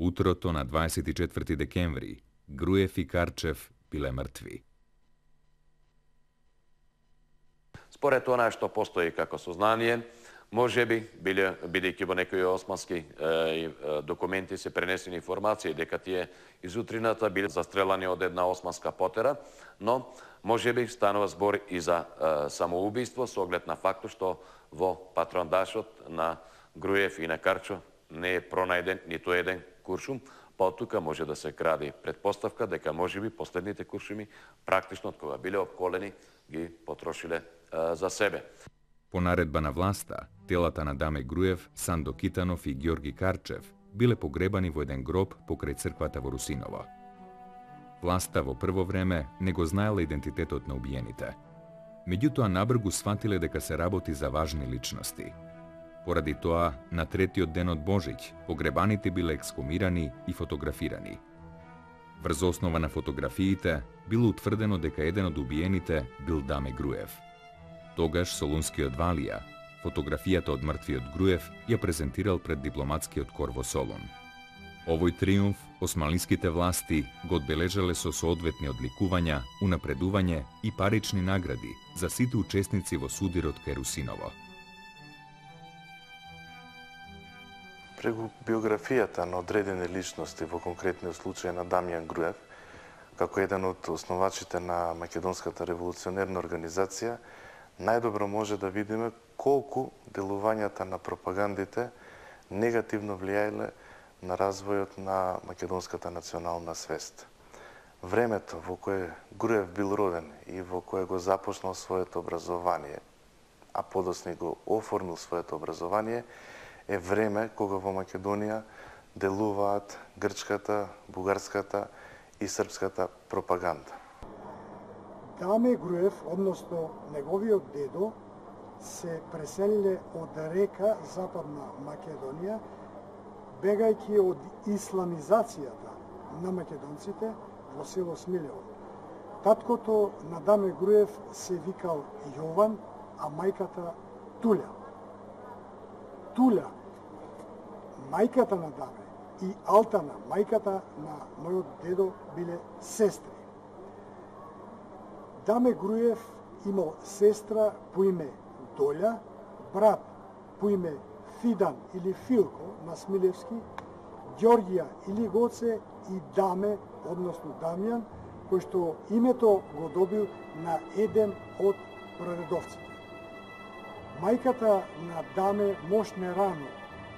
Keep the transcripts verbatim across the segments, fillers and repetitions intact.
Утрото на дваесет и четврти декември, Груев и Карчев биле мртви. Според она што постои како сознание, може би, бидејќи во некои османски е, е, документи се пренесени информации дека тие изутрината биле застрелани од една османска потера, но може би станува збор и за е, самоубиство со оглед на фактот што во патрондашот на Груев и на Карчо не е пронајден ниту еден куршум, па од тука може да се кради предпоставка дека можеби последните куршуми практично од кога биле обколени ги потрошиле е, за себе. По наредба на власта, телата на Даме Груев, Сандо Китанов и Георги Карчев биле погребани во еден гроб покрај црквата во Русиново. Власта во прво време не го знаела идентитетот на убиените. Меѓутоа набргу сватиле дека се работи за важни личности. Поради тоа, на третиот ден од Божиќ, погребаните биле ексхумирани и фотографирани. Врз основа на фотографиите било утврдено дека еден од убиените бил Даме Груев. Тогаш солунскиот Валија, фотографијата од мртвиот Груев ја презентирал пред дипломатскиот кор во Солун. Овој триумф османлиските власти го одбележале со соодветни одликувања, унапредување и парични награди за сите учесници во судирот кај Русиново. Преку биографијата на одредени личности, во конкретниот случај на Дамјан Груев, како еден од основачите на Македонската револуционерна организација, најдобро може да видиме колку делувањата на пропагандите негативно влијаеле на развојот на македонската национална свест. Времето во кое Груев бил роден и во кое го започнал своето образование, а подоцна го оформил своето образование, е време кога во Македонија делуваат грчката, бугарската и српската пропаганда. Даме Груев, односно неговиот дедо, се преселиле од река Западна Македонија, бегајќи од исламизацијата на македонците во село Смилево. Таткото на Даме Груев се викал Јован, а мајката Туля. Туля, мајката на Даме, и Алтана, мајката на мојот дедо, биле сестри. Даме Груев имал сестра по име Доља, брат по име Фидан или Филко на Смилевски, Ѓорѓија или Гоце и Даме, односно Дамјан, кој што името го добил на еден од праредовците. Мајката на Даме мошне рано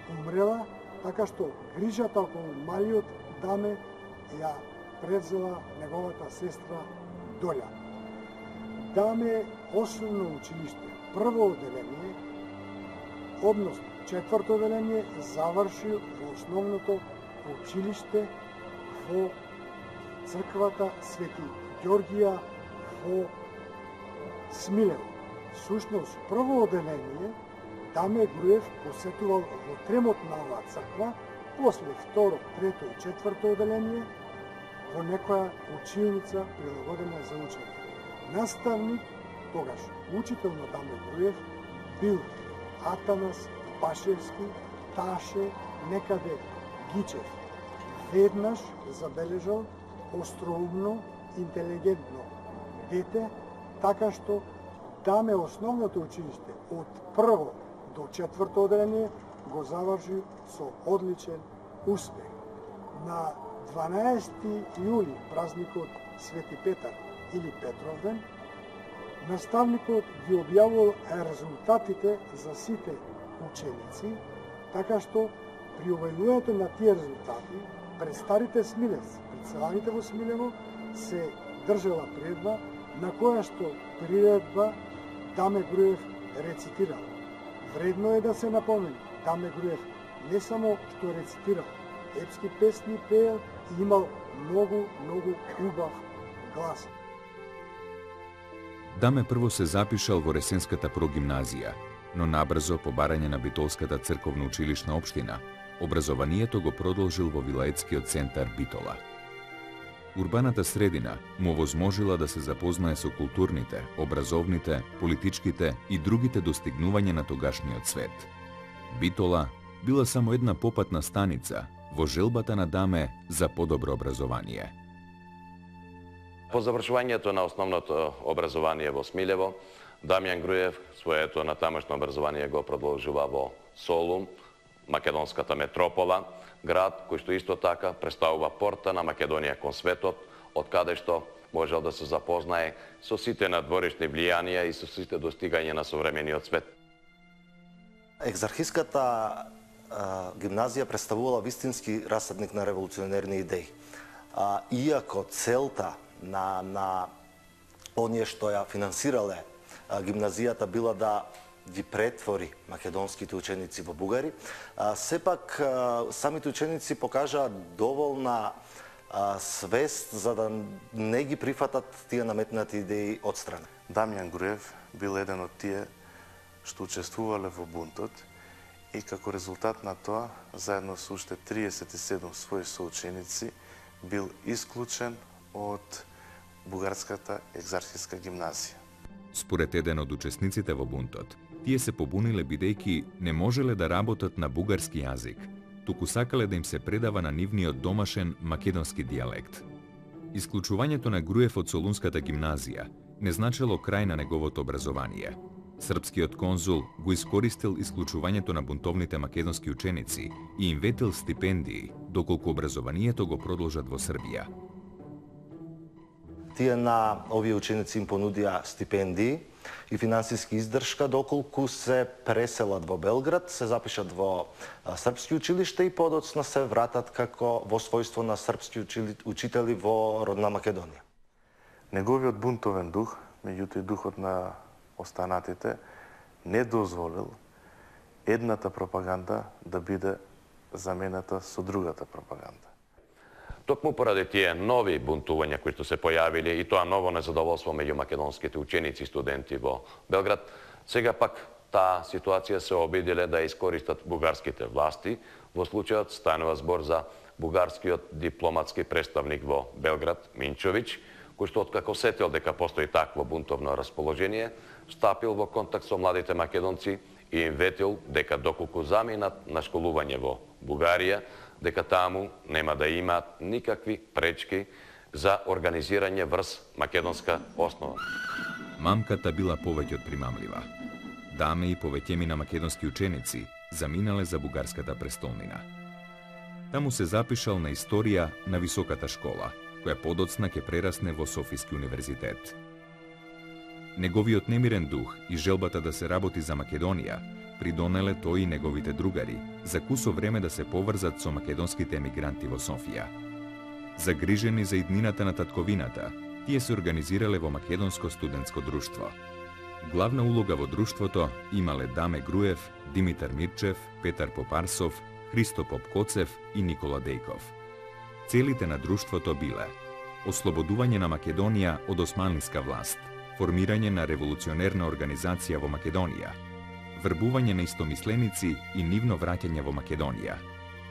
умрела, така што грижата околу малиот Даме ја превзела неговата сестра Доља. Даме основно училиште, прво оделение, односно четврто оделение, заврши во основното училиште во црквата Свети Ѓорѓија во Смилево. Сушност, прво оделение Даме Груев посетувал во тремот на оваа црква, после второ, трето и четврто оделение во некоја училница прилагодена за учење. Наставник, тогаш учител на Даме Груев, бил Атанас Пашевски, Таше, некаде Гичев. Веднаш забележал остроумно, интелигентно дете, така што Даме основното училиште од прво до четврто оделение го заврши со одличен успех. На дванаесети јули, празникот Свети Петар или Петровден, наставникот ги објавил резултатите за сите ученици, така што при објавувањето на тие резултати пред старите смилевци, пред селаните во Смилево, се држала предба на која што приредба Даме Груев рецитирал. Вредно е да се напомени, Даме Груев не само што рецитирал, епски песни пеел и имал многу, многу убав глас. Даме прво се запишал во Ресенската прогимназија, но набрзо по барање на Битолската црковна училишна општина, образованието го продолжил во вилаетскиот центар Битола. Урбаната средина му овозможила да се запознае со културните, образовните, политичките и другите достигнувања на тогашниот свет. Битола била само една попатна станица во желбата на Даме за подобро образование. По завршувањето на основното образование во Смилево, Дамјан Груев своето натамошно образование го продолжува во Солун, македонската метропола, град кој што исто така представува порта на Македонија кон светот, од каде што можел да се запознае со сите надворешни влијанија и со сите достигања на современиот свет. Екзархиската а, гимназија представувала вистински расадник на револуционерни идеи. А, иако целта на, на оние што ја финансирале а, гимназијата била да ги претвори македонските ученици во бугари, а, сепак а, самите ученици покажаа доволна а, свест за да не ги прифатат тие наметнати идеи од страна. Дамјан Груев бил еден од тие што учествувале во бунтот и како резултат на тоа, заедно со уште триесет и седум своји соученици, бил исклучен од бугарската екзархиска гимназија. Според еден од учесниците во бунтот, тие се побуниле бидејќи не можеле да работат на бугарски јазик, туку сакале да им се предава на нивниот домашен македонски дијалект. Исклучувањето на Груев од Солунската гимназија не значело крај на неговото образование. Српскиот конзул го искористил исклучувањето на бунтовните македонски ученици и им ветил стипендии, доколку образованието го продолжат во Србија. Тие на овие ученици им понудија стипендии и финансиски издршка доколку се преселат во Белград, се запишат во српски училиште и подоцна се вратат како во својство на српски учители во родна Македонија. Неговиот бунтовен дух, меѓутоа и духот на останатите, не дозволил едната пропаганда да биде замената со другата пропаганда. Токму поради тие нови бунтувања кои што се појавиле и тоа ново незадоволство меѓу македонските ученици и студенти во Белград, сега пак таа ситуација се обиделе да искористат бугарските власти. Во случајот станува збор за бугарскиот дипломатски представник во Белград, Минчовиќ, кој што откако сетил дека постои такво бунтовно расположение, стапил во контакт со младите македонци и им ветил дека доколку заминат на школување во Бугарија, дека таму нема да имаат никакви пречки за организирање врз македонска основа. Мамката била повеќе од примамлива. Даме и повеќемина македонски ученици заминале за бугарската престолнина. Таму се запишал на историја на високата школа, која подоцна ќе прерасне во Софиски универзитет. Неговиот немирен дух и желбата да се работи за Македонија придонеле тој и неговите другари за кусо време да се поврзат со македонските емигранти во Софија. Загрижени за иднината на татковината, тие се организирале во Македонско студентско друштво. Главна улога во друштвото имале Даме Груев, Димитар Мирчев, Петар Попарсов, Христо Попкоцев и Никола Дејков. Целите на друштвото биле ослободување на Македонија од османлиска власт, формирање на револуционерна организација во Македонија, врбување на истомисленици и нивно враќање во Македонија,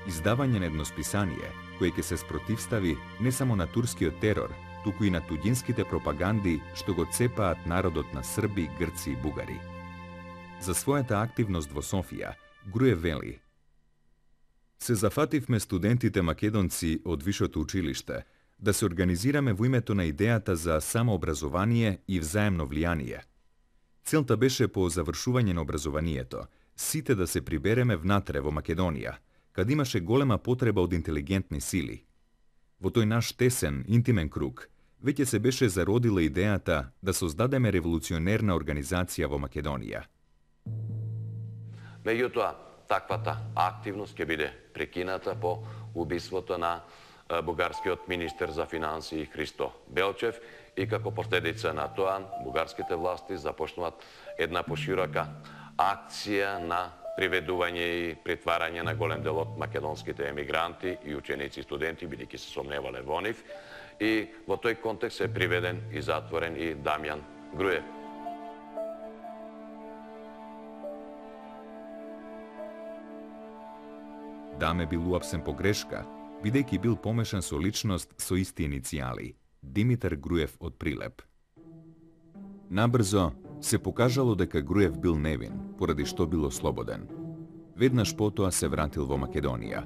издавање на едносписание кое ќе се спротивстави не само на турскиот терор, туку и на туѓинските пропаганди што го цепаат народот на срби, грци и бугари. За својата активност во Софија, Груев вели: се зафативме студентите македонци од вишето училиште да се организираме во името на идејата за самообразование и взаемно влијание. Целта беше по завршување на образованието, сите да се прибереме внатре во Македонија, каде имаше голема потреба од интелигентни сили. Во тој наш тесен, интимен круг, веќе се беше зародила идејата да создадеме револуционерна организација во Македонија. Меѓутоа, таквата активност ќе биде прекината по убиството на бугарскиот министер за финансии Христо Белчев и како последица на тоа бугарските власти започнуваат една поширока акција на приведување и притварање на голем дел од македонските емигранти и ученици и студенти, бидејќи се сомневале во нив. И во тој контекст е приведен и затворен и Дамјан Груев. Даме бил уапсен по грешка, бидејќи бил помешан со личност со исти иницијали – Димитар Груев од Прилеп. Набрзо се покажало дека Груев бил невин, поради што бил ослободен. Веднаш потоа се вратил во Македонија.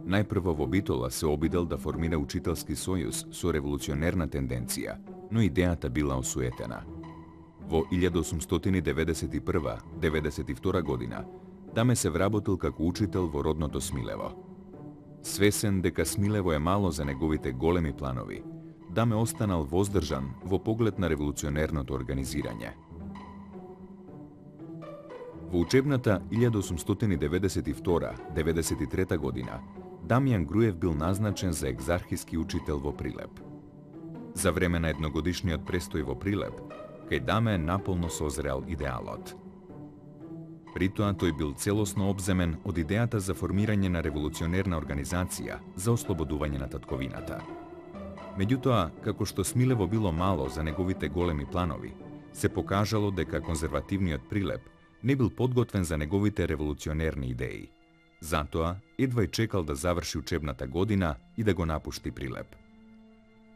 најпрво во Битола се обидел да формира учителски сојуз со револуционерна тенденција, но идејата била осуетена. Во илјада осумстотини деведесет и прва - деведесет и втора година Даме се вработил како учител во родното Смилево. Свесен дека Смилево е мало за неговите големи планови, Даме останал воздржан во поглед на револуционерното организирање. Во учебната илјада осумстотини деведесет и втора - деведесет и трета година Дамјан Груев бил назначен за екзархиски учител во Прилеп. За време на едногодишниот престој во Прилеп, кај Даме наполно созрел идеалот. При тоа тој бил целосно обземен од идејата за формирање на револуционерна организација за ослободување на татковината. Меѓутоа, како што Смилево било мало за неговите големи планови, се покажало дека конзервативниот Прилеп не бил подготвен за неговите револуционерни идеи. Затоа, едва и чекал да заврши учебната година и да го напушти Прилеп.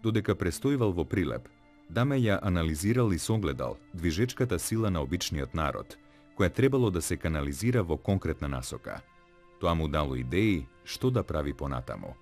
Додека престојувал во Прилеп, Даме ја анализирал и согледал движечката сила на обичниот народ, која требало да се канализира во конкретна насока. Тоа му дало идеи што да прави понатаму.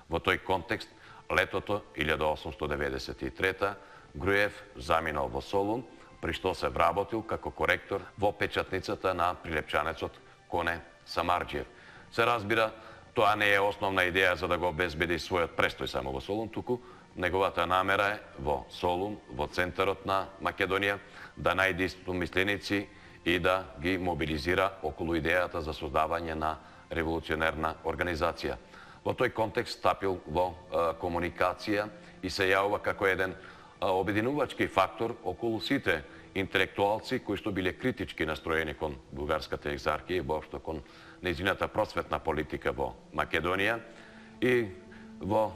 Во тој контекст, летото илјада осумсто деведесет и трета Груев заминал во Солун, при што се вработил како коректор во печатницата на прилепчанецот Коне Самарџиев. Се разбира, тоа не е основна идеја за да го обезбеди својот престој само во Солун, туку неговата намера е во Солун, во центарот на Македонија, да најде истомисленици и да ги мобилизира околу идејата за создавање на револуционерна организација. Во тој контекст стапил во а, комуникација и се јавува како еден а, обединувачки фактор околу сите интелектуалци кои што биле критички настроени кон бугарската екзархија и воопшто кон нејзината просветна политика во Македонија, и во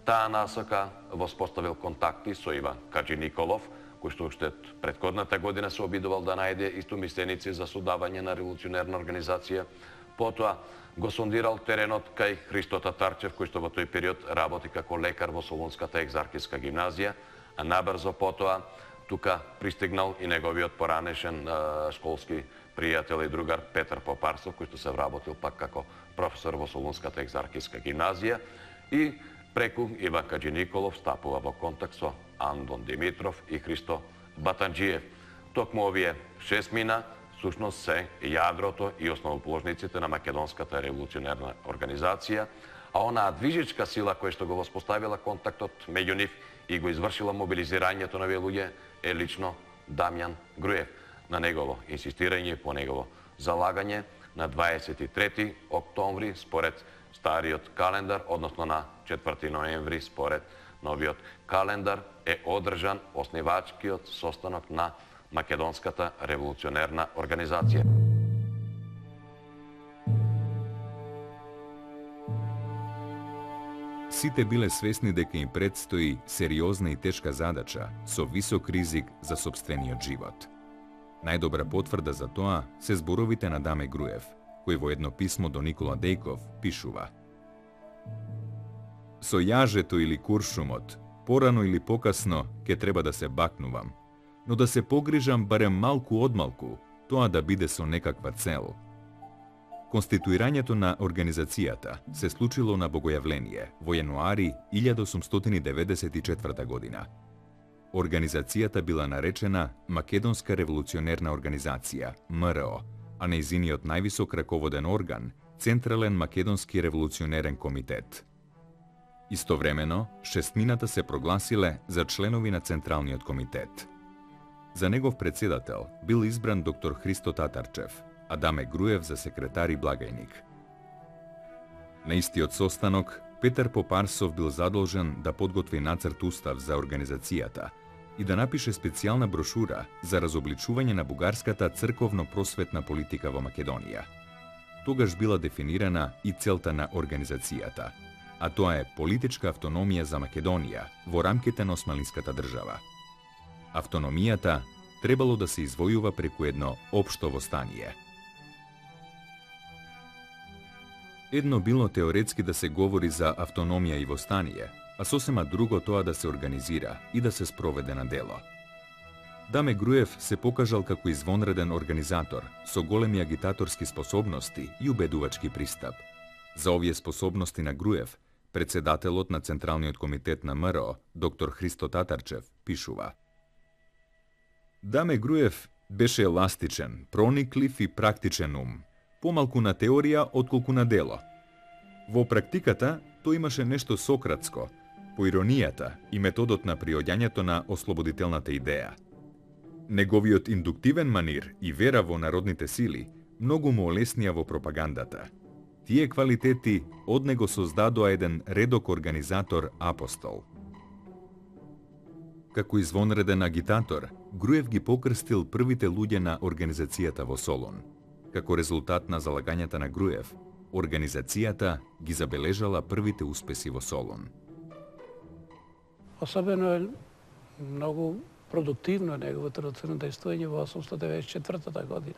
таа насока воспоставил контакти со Иван Каџи Николов, кој што уште претходната година се обидувал да најде истомисленици за создавање на револуционерна организација. Потоа го сондирал теренот кај Христо Татарчев, кој што во тој период работи како лекар во Солунската екзархиска гимназија, а набрзо потоа тука пристигнал и неговиот поранешен а, школски пријател и другар Петар Попарсов, кој што се вработил пак како професор во Солунската екзархиска гимназија, и преку Иван Каџи Николов стапува во контакт со Андон Димитров и Христо Батанџиев. Токму овие шестмина сушност се јадрото и основоположниците на Македонската револуционерна организација, а онаа движечка сила која што го воспоставила контактот меѓу нив и го извршила мобилизирањето на овие луѓе е лично Дамјан Груев. На негово инсистирање и по негово залагање на дваесет и трети октомври според стариот календар, односно на четврти ноември според новиот календар, е одржан оснивачкиот состанок на Македонската револуционерна организација. Сите биле свесни дека им предстои сериозна и тешка задача со висок ризик за сопствениот живот. Најдобра потврда за тоа се зборовите на Даме Груев, кој во едно писмо до Никола Дејков пишува: Со јажето или куршумот, порано или покасно, ке треба да се бакнувам, но да се погрижам барем малку одмалку, тоа да биде со некаква цел. Конституирањето на организацијата се случило на Богојавление во јануари илјада осумстотини деведесет и четврта година. Организацијата била наречена Македонска револуционерна организација, М Р О, а нејзиниот највисок раководен орган, Централен македонски револуционерен комитет. Истовремено, шестмината се прогласиле за членови на Централниот комитет. За негов председател бил избран доктор Христо Татарчев, а Даме Груев за секретар и благајник. На истиот состанок, Петар Попарсов бил задолжен да подготви нацрт устав за организацијата и да напише специјална брошура за разобличување на бугарската црковно-просветна политика во Македонија. Тогаш била дефинирана и целта на организацијата, а тоа е политичка автономија за Македонија во рамките на османлиската држава. Автономијата требало да се извојува преку едно општо востание. Едно било теоретски да се говори за автономија и востание, а сосема друго тоа да се организира и да се спроведе на дело. Даме Груев се покажал како извонреден организатор со големи агитаторски способности и убедувачки пристап. За овие способности на Груев, председателот на Централниот комитет на МРО, доктор Христо Татарчев, пишува: Даме Груев беше еластичен, прониклив и практичен ум, помалку на теорија отколку на дело. Во практиката тој имаше нешто сократско, по иронијата и методот на приоѓањето на ослободителната идеја. Неговиот индуктивен манир и вера во народните сили многу му олеснија во пропагандата. Тие квалитети од него создадоа еден редок организатор апостол. Како извонреден агитатор, Груев ги покрстил првите луѓе на организацијата во Солун. Како резултат на залагањата на Груев, организацијата ги забележала првите успеси во Солун. Особено е многу продуктивно неговото рацено действување во осумстотини деветдесет и четвртата година.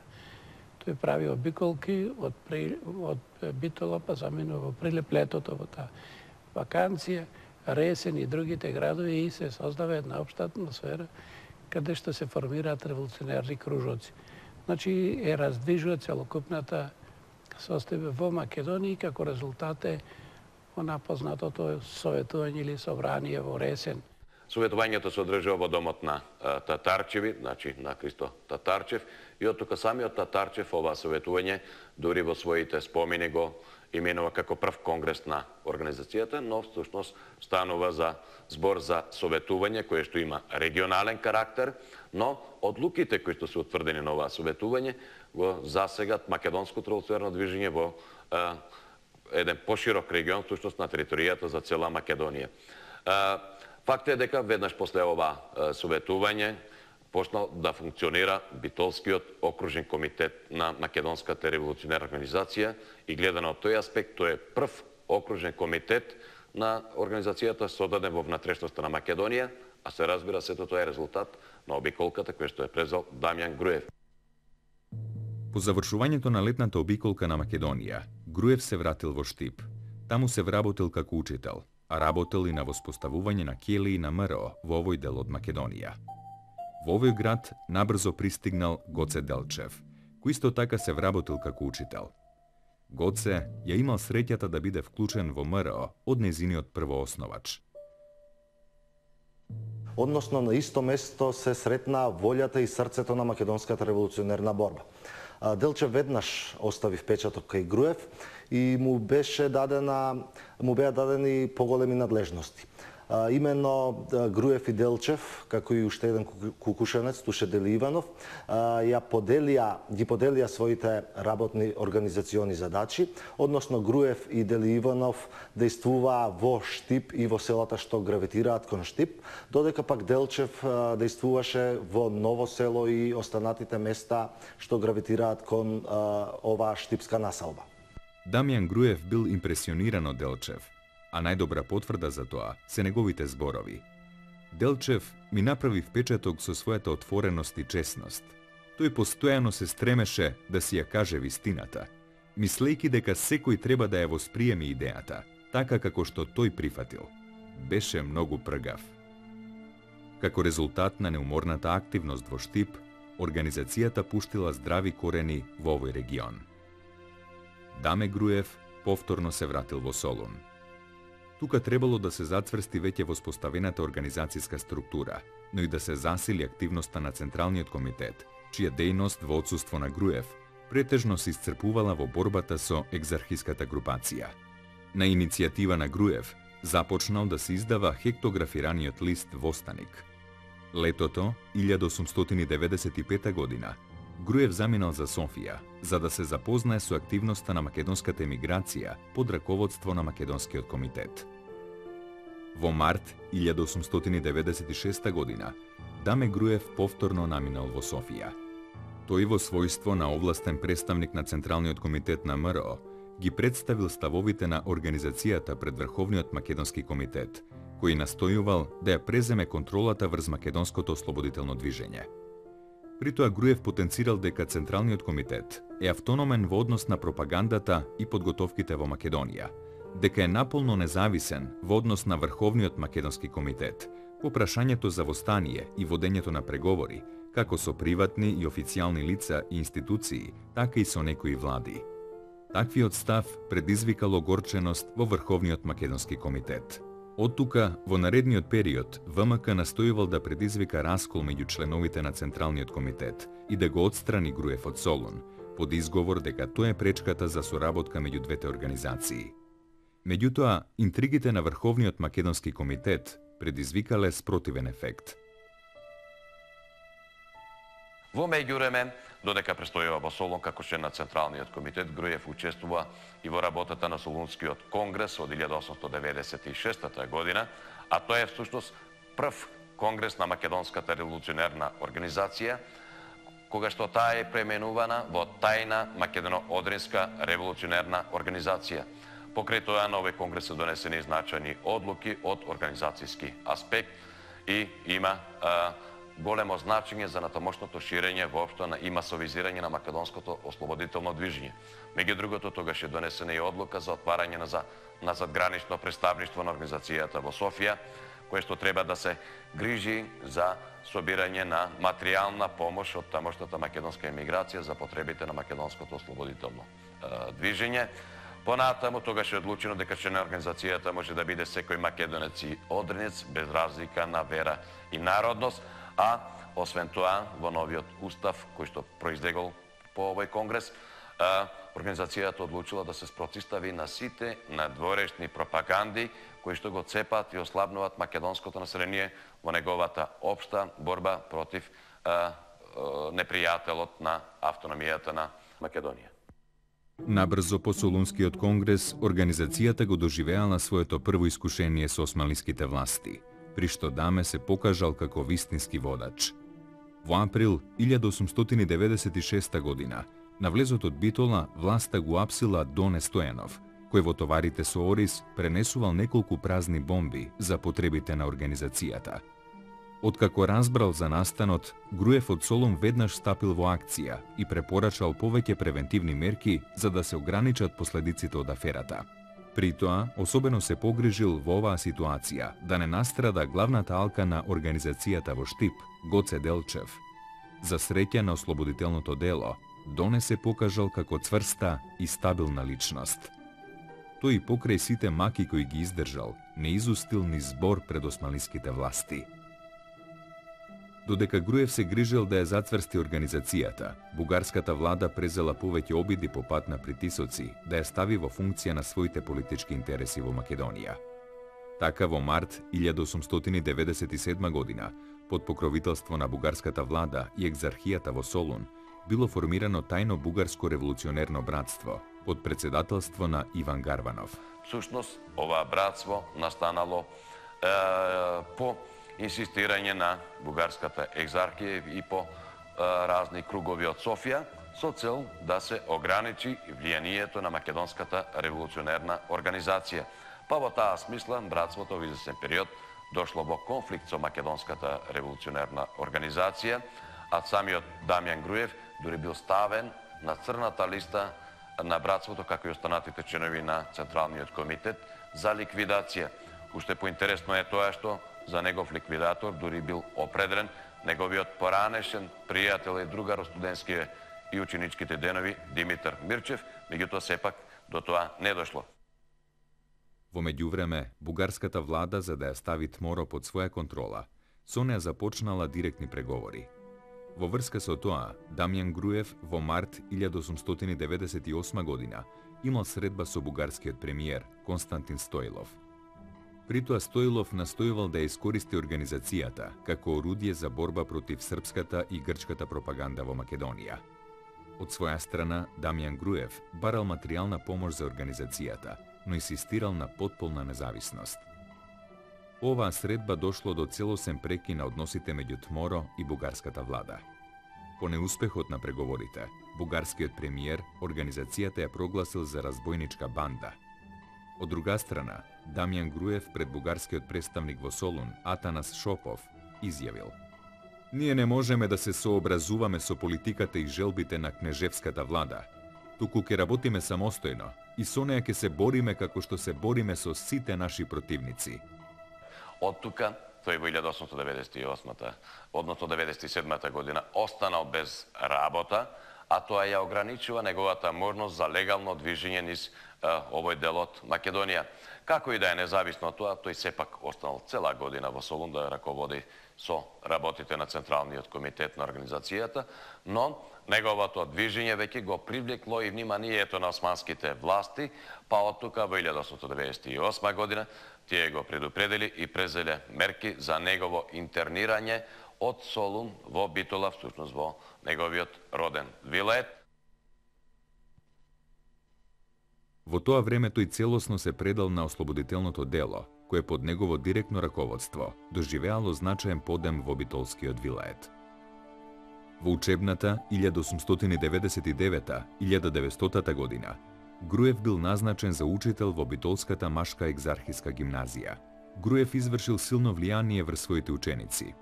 Тој прави обиколки од, при, од Битола, па заминува во Прилеп летото, во таа ваканција, Ресен и другите градови и се создава една општа атмосфера каде што се формираат револуционерни кружоци. Значи е раздвижува целокупната состојба во Македонија, како резултат е она познатото советување или собрание во Ресен. Советувањето се одржува во домот на Татарчеви, значи на Христо Татарчев, и од тука самиот Татарчев ова советување дури во своите спомени го именува како прв конгрес на организацијата, но всушност станува за збор за советување кое што има регионален карактер, но одлуките кои што се утврдени на ова советување го засегат македонското револуционерно движење во а, еден поширок регион, всушност на територијата за цела Македонија. А, Факт е дека веднаш после ова советување почнал да функционира Битолскиот окружен комитет на Македонската револуционерна организација и гледано од тој аспект, тој е прв окружен комитет на организацијата создаден во внатрешноста на Македонија, а се разбира сето тоа е резултат на обиколката која што е презел Дамјан Груев. По завршувањето на летната обиколка на Македонија, Груев се вратил во Штип. Таму се вработил како учител, а работел и на воспоставување на ќелии на МРО во овој дел од Македонија. Во овој град набрзо пристигнал Гоце Делчев, кој исто така се вработил како учител. Гоце ја имал среќата да биде вклучен во МРО од незиниот првоосновач. Односно на исто место се сретна волјата и срцето на македонската револуционерна борба. Делчев веднаш остави впечаток кај Груев и му беше дадена, му беа дадени поголеми надлежности. А, именно Груев и Делчев, како и уште еден кукушенец, Туше Дели Иванов, а, ја поделија, ги поделија своите работни организациони задачи, односно Груев и Дели Иванов действуваа во Штип и во селата што гравитираат кон Штип, додека пак Делчев а, действуваше во Ново село и останатите места што гравитираат кон а, оваа штипска населба. Дамјан Груев бил импресиониран од Делчев, а најдобра потврда за тоа се неговите зборови. Делчев ми направи впечаток со својата отвореност и честност. Тој постојано се стремеше да си ја каже вистината, мислејќи дека секој треба да ја восприеми идејата, така како што тој прифатил. Беше многу пргав. Како резултат на неуморната активност во Штип, организацијата пуштила здрави корени во овој регион. Даме Груев повторно се вратил во Солун. Тука требало да се зацврсти веќе воспоставената организацијска структура, но и да се засили активноста на Централниот комитет, чија дејност во отсуство на Груев претежно се исцрпувала во борбата со екзархиската групација. На иницијатива на Груев започнал да се издава хектографираниот лист Востаник. Летото илјада осумстотини деветдесет и пета година Груев заминал за Софија, за да се запознае со активноста на македонската емиграција под раководство на Македонскиот комитет. Во март илјада осумстотини деветдесет и шеста година Даме Груев повторно наминал во Софија. Тој во својство на овластен представник на Централниот комитет на МРО ги представил ставовите на организацијата пред Врховниот македонски комитет, кој настојувал да ја преземе контролата врз македонското ослободително движење. При тоа Груев потенцирал дека Централниот комитет е автономен во однос на пропагандата и подготовките во Македонија, дека е наполно независен во однос на Врховниот македонски комитет по прашањето за востание и водењето на преговори како со приватни и официјални лица и институции, така и со некои влади. Таквиот став предизвикал огорченост во Врховниот македонски комитет. Од тука, во наредниот период, ВМК настојувал да предизвика раскол меѓу членовите на Централниот комитет и да го отстрани Груев од Солун, под изговор дека тоа е пречката за соработка меѓу двете организации. Меѓутоа, интригите на Врховниот македонски комитет предизвикале спротивен ефект. Во меѓувреме, додека престојува во Солун како член на Централниот комитет, Груев учествува и во работата на Солунскиот конгрес од илјада осумстотини деведесет и шеста година, а тоа е всушност прв конгрес на Македонската револуционерна организација, кога што таа е пременувана во тајна Македоно-Одринска револуционерна организација. Покрај тоа на овој конгрес се донесени значајни одлуки од организацијски аспект и има а, големо значење за натамошното ширење воопшто на и масовизирање на македонското ослободително движење. Меѓу другото, тогаш е донесена и одлука за отварање на, за, на задгранично представништво на организацијата во Софија, кое што треба да се грижи за собирање на материјална помош од тамошната македонска емиграција за потребите на македонското ослободително е, движење. Понатаму тогаш е одлучено дека член на организацијата може да биде секој македонец и одринец без разлика на вера и народност, а освен тоа во новиот устав кој што произлегол по овој конгрес, организацијата одлучила да се спротивстави на сите надворешни пропаганди кои што го цепат и ослабнуваат македонското население во неговата општа борба против а, а, непријателот на автономијата на Македонија. Набрзо по Солунскиот конгрес, организацијата го доживеала своето прво искушение со османлиските власти, при што Даме се покажал како вистински водач. Во април илјада осумстотини деведесет и шеста година, на влезот од Битола, власта го апсила Доне Стојанов, кој во товарите со Орис пренесувал неколку празни бомби за потребите на организацијата. Откако разбрал за настанот, Груев од Солун веднаш стапил во акција и препорачал повеќе превентивни мерки за да се ограничат последиците од аферата. При тоа, особено се погрижил во оваа ситуација да не настрада главната алка на организацијата во Штип, Гоце Делчев. За среќа на ослободителното дело, Доне се покажал како цврста и стабилна личност. Тој и покрај сите маки кои ги издржал, не изустил ни збор пред османлиските власти. Додека Груев се грижел да ја зацврсти организацијата, бугарската влада презела повеќе обиди по пат на притисоци да ја стави во функција на своите политички интереси во Македонија. Така во март илјада осумстотини деведесет и седма година, под покровителство на бугарската влада и екзархијата во Солун, било формирано тајно бугарско револуционерно братство под председателство на Иван Гарванов. Всушност, ова братство настанало е, по инсистирање на бугарската екзархија и по е, разни кругови од Софија, со цел да се ограничи влијанието на Македонската револуционерна организација. Па во таа смисла, братството во известен период дошло во конфликт со Македонската револуционерна организација, а самиот Дамјан Груев дури бил ставен на црната листа на братството, како и останатите членови на Централниот комитет, за ликвидација. Уште поинтересно е тоа што за негов ликвидатор дури бил определен неговиот поранешен пријател и другар од студентските и ученичките денови Димитар Мирчев, меѓутоа сепак до тоа не дошло. Во меѓувреме, бугарската влада, за да ја стави Тморо под своја контрола, со неа започнала директни преговори. Во врска со тоа, Дамјан Груев во март илјада осумстотини деведесет и осма година имал средба со бугарскиот премиер Константин Стоилов. При тоа Стоилов настојувал да ја искористи организацијата како орудие за борба против српската и грчката пропаганда во Македонија. Од своја страна, Дамјан Груев барал материјална помош за организацијата, но инсистирал на потполна независност. Оваа средба дошло до целосен прекин на односите меѓу Тморо и бугарската влада. По неуспехот на преговорите, бугарскиот премиер организацијата ја прогласил за разбојничка банда. Од друга страна, Дамјан Груев пред бугарскиот представник во Солун, Атанас Шопов, изјавил: "Ние не можеме да се сообразуваме со политиката и желбите на кнежевската влада, туку ќе работиме самостојно и со неја ќе се бориме како што се бориме со сите наши противници." Од тука тој во илјада осумстотини деветдесет и осма, односно деветдесет и седма година, останал без работа, а тоа ја ограничува неговата можност за легално движење низ овој дел од Македонија. Како и да е независно од тоа, тој сепак останал цела година во Солун да раководи со работите на Централниот комитет на организацијата, но неговото движење веќе го привлекло и вниманието на османските власти, па од тука во илјада осумстотини деветдесет и осма година тие го предупредили и презеле мерки за негово интернирање од Солун во Битола, всушност во неговиот роден вилает. Во тоа време тој целосно се предал на ослободителното дело, кое под негово директно раководство доживеало значаен подем во Битолскиот вилает. Во учебната илјада осумстотини деветдесет и девета - илјада деветстотата година Груев бил назначен за учител во Битолската машка екзархиска гимназија. Груев извршил силно влијание врз своите ученици,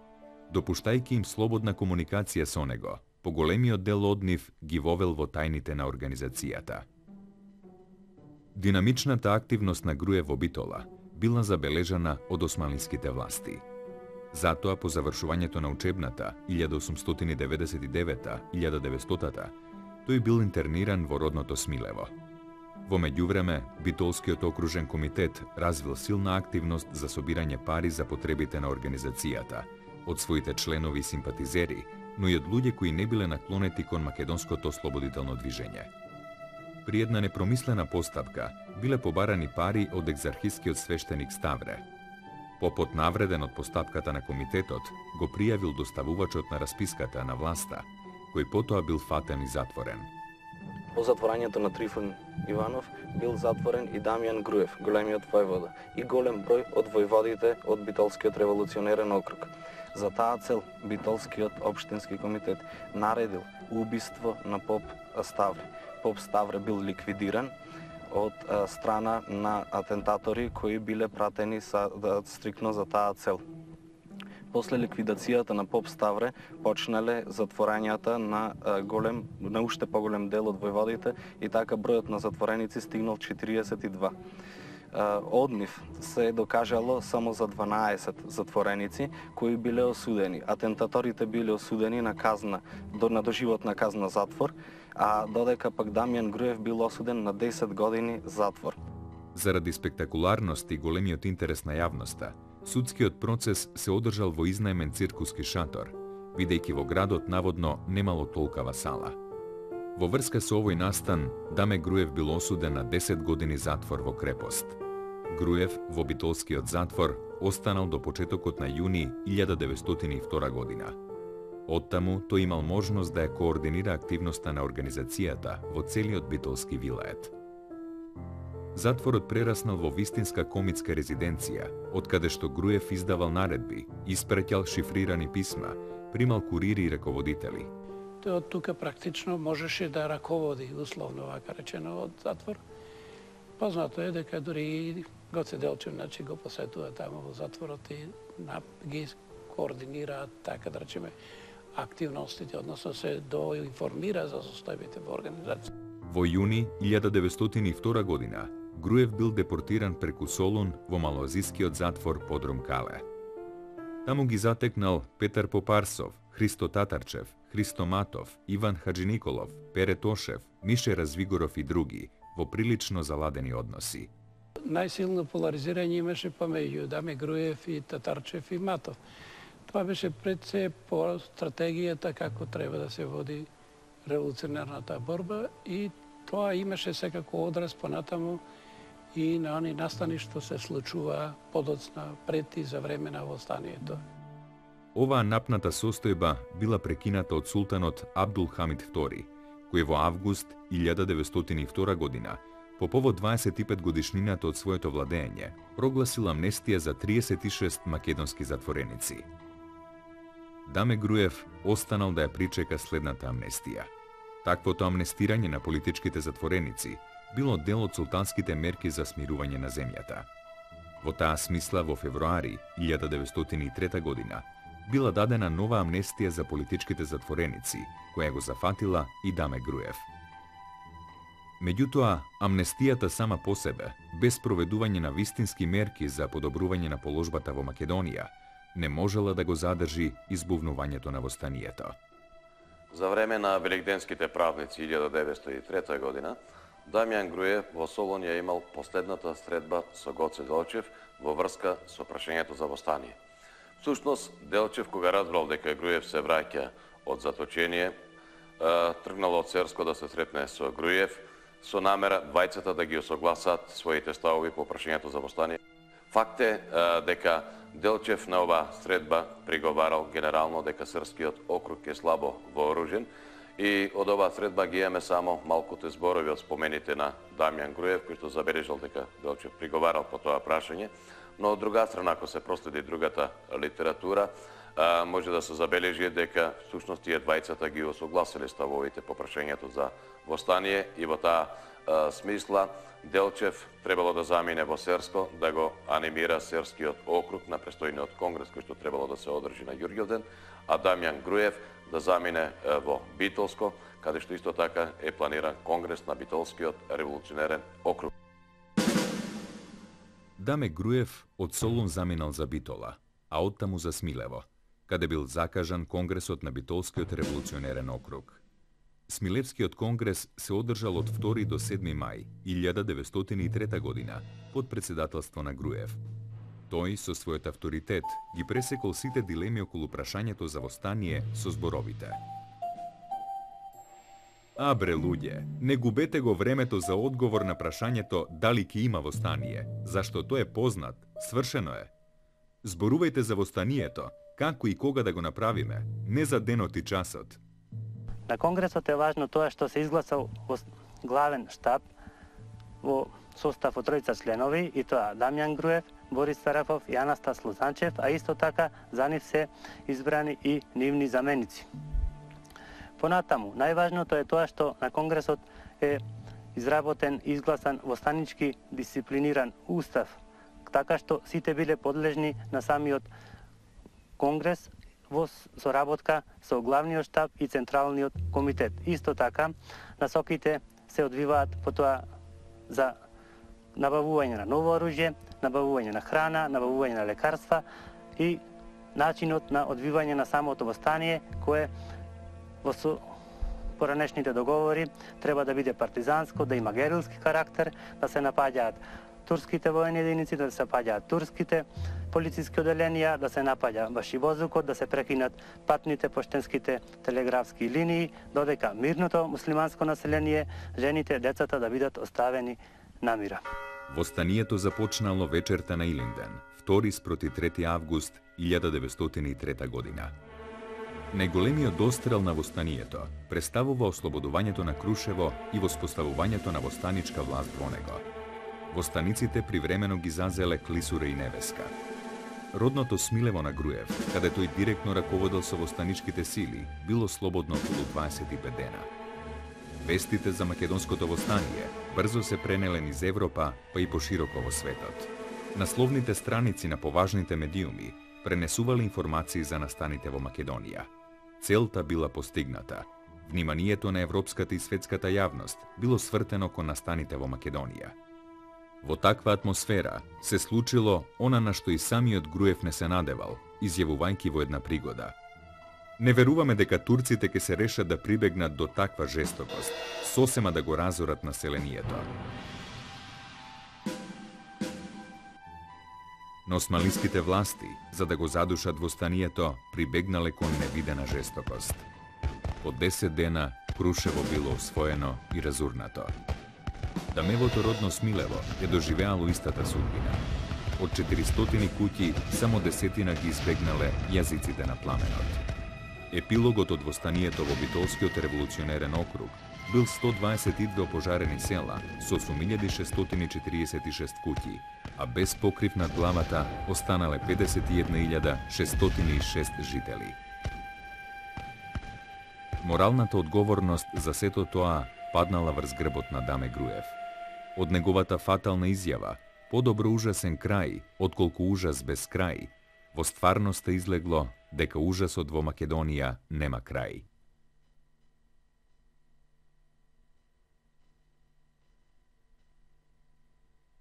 допуштајќи им слободна комуникација со него. Поголемиот дел од нив ги вовел во тајните на организацијата. Динамичната активност на Груев во Битола била забележана од османлиските власти. Затоа, по завршувањето на учебната илјада осумстотини деветдесет и девета - илјада деветстотата, тој бил интерниран во родното Смилево. Во меѓувреме, Битолскиот окружен комитет развил силна активност за собирање пари за потребите на организацијата, од своите членови и симпатизери, но и од луѓе кои не биле наклонети кон македонското ослободително движење. При една непромислена постапка биле побарани пари од екзархискиот свештеник Ставре. Попот, навреден од постапката на комитетот, го пријавил доставувачот на расписката на власта, кој потоа бил фатен и затворен. По затворањето на Трифон Иванов бил затворен и Дамјан Груев, големиот војвода, и голем број од војводите од Битолскиот револуционерен округ. За таа цел Битолскиот општински комитет наредил убиство на поп Ставре. Поп Ставре бил ликвидиран од страна на атентатори кои биле пратени са, да, стрикно за таа цел. После ликвидацијата на поп Ставре почнале затворањата на голем, на уште поголем дел од војводите и така бројот на затвореници стигнал четириесет и два. Од нив се докажало само за дванаесет затвореници кои биле осудени. Атентаторите биле осудени на казна, до на доживотна казна затвор, а додека пак Дамјан Груев бил осуден на десет години затвор. Заради спектакуларност и големиот интерес на јавноста, судскиот процес се одржал во изнаемен циркуски шатор, бидејќи во градот наводно немало толкава сала. Во врска со овој настан, Даме Груев бил осуден на десет години затвор во крепост. Груев во Битолскиот затвор останал до почетокот на јуни илјада деветстотини и втора година. Оттаму тој имал можност да ја координира активноста на организацијата во целиот Битолски вилает. Затворот прераснал во вистинска комитска резиденција, од каде што Груев издавал наредби, испраќал шифрирани писма, примал курири и раководители. Тој од тука практично можеше да раководи, условно вака речено, од затвор. Познато е дека дури и Гоце Делчев, значи, го посетува таму во затворот и ги координираат, така да речеме, активностите, односно се доинформира за состојбите во организација. Во јуни илјада деветстотини и втора година Груев бил депортиран преку Солун во малоазискиот затвор Подрум Кале. Таму ги затекнал Петар Попарсов, Христо Татарчев, Христо Матов, Иван Хаджиниколов, Пере Тошев, Мише Развигоров и други во прилично заладени односи. Најсилно поларизирање имаше помеѓу Даме Груев и Татарчев и Матов. Тоа беше пред се по стратегијата како треба да се води револуционерната борба и тоа имаше секако одраз понатаму и на они настани што се случува подоцна пред и за време на востанието. Оваа напната состојба била прекината од султанот Абдул Хамид втори, кој во август илјада деветстотини и втора година, по повод дваесет и пет годишнината од своето владење, прогласил амнестија за триесет и шест македонски затвореници. Даме Груев останал да ја причека следната амнестија. Таквото амнестирање на политичките затвореници било дел од султанските мерки за смирување на земјата. Во таа смисла во февруари илјада деветстотини и трета година била дадена нова амнестија за политичките затвореници, која го зафатила и Даме Груев. Меѓутоа, амнестијата сама по себе, без проведување на вистински мерки за подобрување на положбата во Македонија, не можела да го задржи избувнувањето на востанието. За време на великденските празници илјада деветстотини и трета година, Дамјан Груев во Солун ја имал последната средба со Гоце Делчев во врска со прашањето за востание. Всушност, Делчев, кога разбрал дека Груев се враќа од заточение, тргнал од Церско да се сретне со Груев, со намера двајцата да ги осогласат своите ставови по прашањето за востание. Факт е дека Делчев на ова средба приговарал генерално дека српскиот округ е слабо вооружен и од оваа средба ги имаме само малкуте зборови од спомените на Дамјан Груев, кој што забележал дека Делчев приговарал по тоа прашање, но од друга страна, ако се проследи другата литература, може да се забележи дека всушност тие двајцата ги осогласиле ставовите по прашањето за востание и во таа смисла Делчев требало да замине во Серско, да го анимира Серскиот округ на престојниот конгрес кој што требало да се одржи на Ѓурѓовден, а Дамјан Груев да замине во Битолско, каде што исто така е планиран конгрес на Битолскиот револуционерен округ. Даме Груев од Солун заминал за Битола, а оттаму за Смилево, каде бил закажан конгресот на Битолскиот револуционерен округ. Смилевскиот конгрес се одржал од втори до седми мај илјада деветстотини и трета година под председателство на Груев. Тој со својот авторитет ги пресекол сите дилеми околу прашањето за востание со зборовите: А бре луѓе, не губете го времето за одговор на прашањето дали ќе има востание, зашто тој е познат, свршено е. Зборувајте за востанието, како и кога да го направиме, не за денот и часот. На конгресот е важно тоа што се изгласал главен штаб во состав од тројца членови, и тоа Дамјан Груев, Борис Сарафов и Анастас Лозанчев, а исто така за нив се избрани и нивни заменици. Понатаму, најважното е тоа што на конгресот е изработен и изгласан востанички дисциплиниран устав, така што сите биле подлежни на самиот конгрес во соработка со главниот штаб и централниот комитет. Исто така, насоките се одвиваат по тоа за набавување на ново оружје, набавување на храна, набавување на лекарства и начинот на одвивање на самото востание, кое во поранешните договори треба да биде партизанско, да има герилски карактер, да се напаѓаат турските воени единици, да се напаѓаат турските полициски оделенија, да се напаѓа башивозукот, да се прекинат патните поштенските телеграфски линии, додека мирното муслиманско население, жените, децата да бидат оставени на мира. Востанието започнало вечерта на Илинден, втори спроти трети август илјада деветстотини и трета година. Најголемиот дострел на востанието представува ослободувањето на Крушево и воспоставувањето на востаничка власт во него. Востаниците привремено ги зазеле Клисура и Невеска. Родното Смилево на Груев, каде тој директно раководел со востаничките сили, било слободно околу дваесет и пет дена. Вестите за македонското востание брзо се пренеле низ Европа, па и пошироко во светот. Насловните страници на поважните медиуми пренесувале информации за настаните во Македонија. Целта била постигната. Вниманието на европската и светската јавност било свртено кон настаните во Македонија. Во таква атмосфера се случило она на што и самиот Груев не се надевал, изјавувајќи во една пригода: Не веруваме дека турците ќе се решат да прибегнат до таква жестокост, сосема да го разорат населението. Но османлиските власти, за да го задушат востанието, прибегнале кон невидена жестокост. По десет дена Крушево било освоено и разурнато. Дамевото родно Смилево е доживеало истата судбина. Од четиристотини куќи, само десетина ги избегнале јазиците на пламенот. Епилогот од востанието во Битолскиот револуционерен округ бил сто дваесет и две опожарени села со осум илјади шестстотини четириесет и шест куќи, а без покрив над главата останале педесет и една илјада шестстотини и шест жители. Моралната одговорност за сето тоа паднала врз грбот на Даме Груев. Од неговата фатална изјава, подобро ужасен крај, отколку ужас без крај, во стварноста излегло дека ужасот во Македонија нема крај.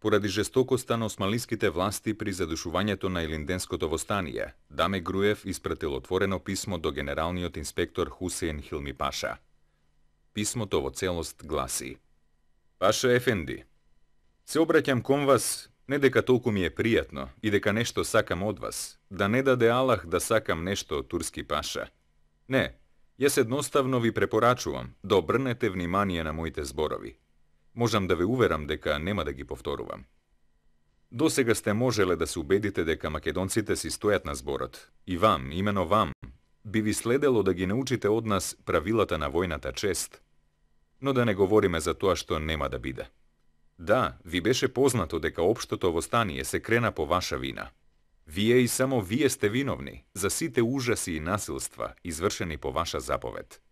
Поради жестокоста на османлиските власти при задушувањето на Илинденското востание, Даме Груев испратил отворено писмо до генералниот инспектор Хусеин Хилми Паша. Писмото во целост гласи: Паша Ефенди, се обраќам кон вас не дека толку ми е пријатно и дека нешто сакам од вас, да не даде Аллах да сакам нешто од турски паша. Не, јас едноставно ви препорачувам да обрнете внимание на моите зборови. Можам да ве уверам дека нема да ги повторувам. Досега сте можеле да се убедите дека македонците си стојат на зборот. И вам, имено вам, би ви следело да ги научите од нас правилата на војната чест. Но да не говориме за тоа што нема да биде. Да, ви беше познато дека општото востание се крена по ваша вина. Вие и само вие сте виновни за сите ужаси и насилства извршени по ваша заповед.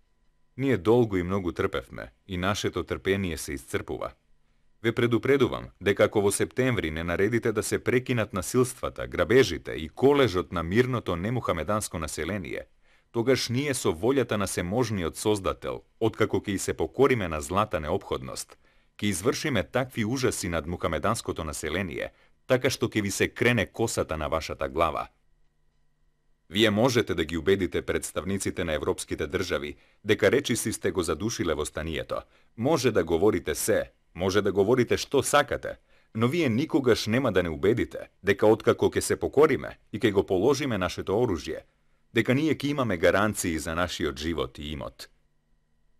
Ние долго и многу трпевме и нашето трпение се исцрпува. Ве предупредувам дека ако во септември не наредите да се прекинат насилствата, грабежите и колежот на мирното немухамеданско население, тогаш ние со волјата на seможниот Создател, откако ќе и се покориме на злата неопходност, ќе извршиме такви ужаси над мухамеданското население, така што ќе ви се крене косата на вашата глава. Вие можете да ги убедите представниците на европските држави дека речиси сте го задушиле востанието. Може да говорите се, може да говорите што сакате, но вие никогаш нема да не убедите дека откако ќе се покориме и ќе го положиме нашето оружје, дека ние ќе имаме гаранции за нашиот живот и имот.